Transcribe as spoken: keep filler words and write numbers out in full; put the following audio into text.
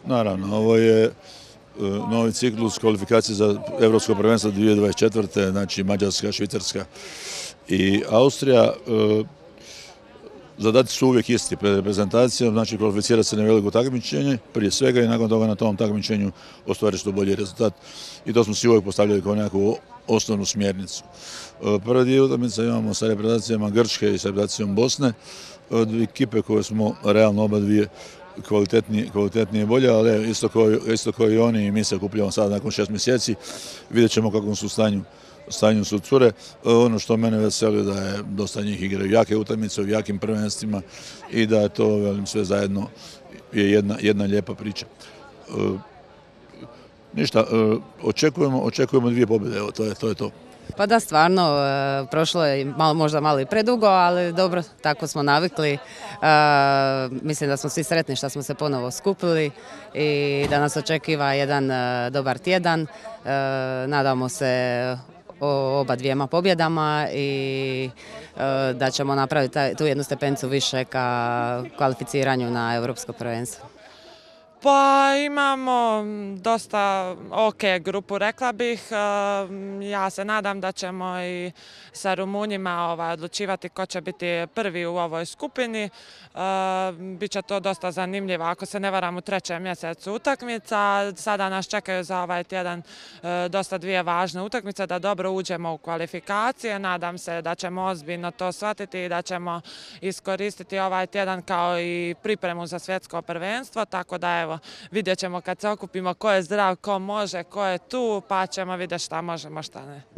Naravno, ovo je novi ciklus kvalifikacije za Evropsko prvenstvo dvije tisuće dvadeset četvrte. Znači Mađarska, Švicarska i Austrija. Zadaci su uvijek isti pred reprezentacijom, znači kvalificirati se na veliko takmičenje prije svega i nakon toga na tom takmičenju ostvariti što bolji rezultat. I to smo si uvijek postavljali kao nekakvu osnovnu smjernicu. Prvi dio utakmica imamo sa reprezentacijama Grčke i sa reprezentacijom Bosne, od ekipe koje smo realno oba dvije kvalitetnije, kvalitetnije i bolje, ali isto kao, isto kao i oni i mi se okupljamo sada nakon šest mjeseci. Vidjet ćemo kakvom su stanju stanju su cure. Ono što mene veseli da je dosta njih igraju jake utakmice u jakim prvenstvima i da je to, velim, sve zajedno je jedna, jedna lijepa priča. E, ništa, e, očekujemo, očekujemo dvije pobjede, evo, to je to. Je to. Pa da, stvarno, e, prošlo je malo, možda malo i predugo, ali dobro, tako smo navikli. E, mislim da smo svi sretni što smo se ponovo skupili i da nas očekiva jedan e, dobar tjedan. E, nadamo se o oba dvijema pobjedama i e, da ćemo napraviti taj, tu jednu stepencu više ka kvalificiranju na Europsko prvenstvo. Pa imamo dosta ok grupu, rekla bih. Ja se nadam da ćemo i sa Rumunjima ovaj, odlučivati ko će biti prvi u ovoj skupini. Biće to dosta zanimljivo, ako se ne varam, u trećem mjesecu utakmica. Sada nas čekaju za ovaj tjedan dosta dvije važne utakmice da dobro uđemo u kvalifikacije. Nadam se da ćemo ozbiljno to shvatiti i da ćemo iskoristiti ovaj tjedan kao i pripremu za svjetsko prvenstvo, tako da evo, vidjet ćemo kad se okupimo ko je zdrav, ko može, ko je tu, pa ćemo vidjeti šta možemo, šta ne.